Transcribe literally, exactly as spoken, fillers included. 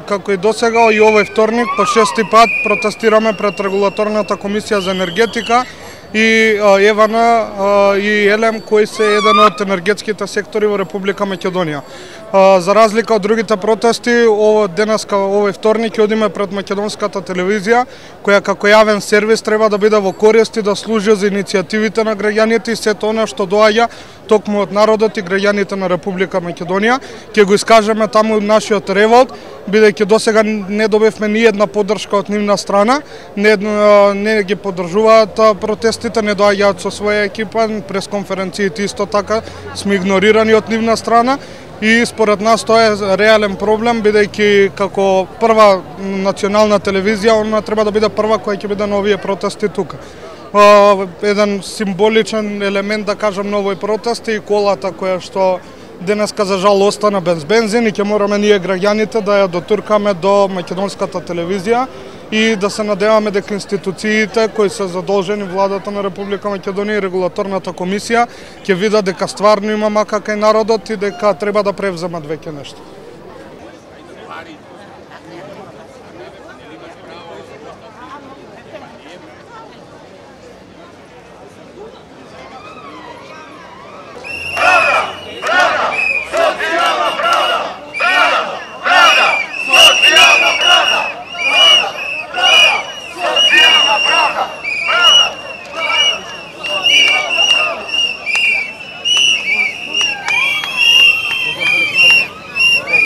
како и досега, и овој вторник по шести пат протестираме пред Регулаторната комисија за енергетика и ЕВН и ЕЛЕМ, кои се еден од енергетските сектори во Република Македонија. За разлика од другите протести, денеска, овој вторник, одиме пред македонската телевизија, која како јавен сервис треба да биде во корист и да служи за иницијативите на граѓаните и сето она што доаѓа токму од народот и граѓаните на Република Македонија. Ќе го искажеме таму нашиот револт, бидејќи досега не добивме ни една поддршка од нивна страна, не, не ги поддржуваат протестите, не доаѓаат со своја екипа, пресконференциите исто така сме игнорирани од нивна страна. И според нас тоа е реален проблем, бидејќи како прва национална телевизија, она треба да биде прва која ќе биде на овие протести тука. Еден символичен елемент, да кажам, на овој протест е и колата која што денеска за жал остана без бензин и ќе мораме ние граѓаните да ја дотуркаме до македонската телевизија и да се надеваме дека институциите кои се задолжени, владата на Република Македонија и Регулаторната комисија, ќе видат дека стварно има мака кај народот и дека треба да превземат веќе нешто.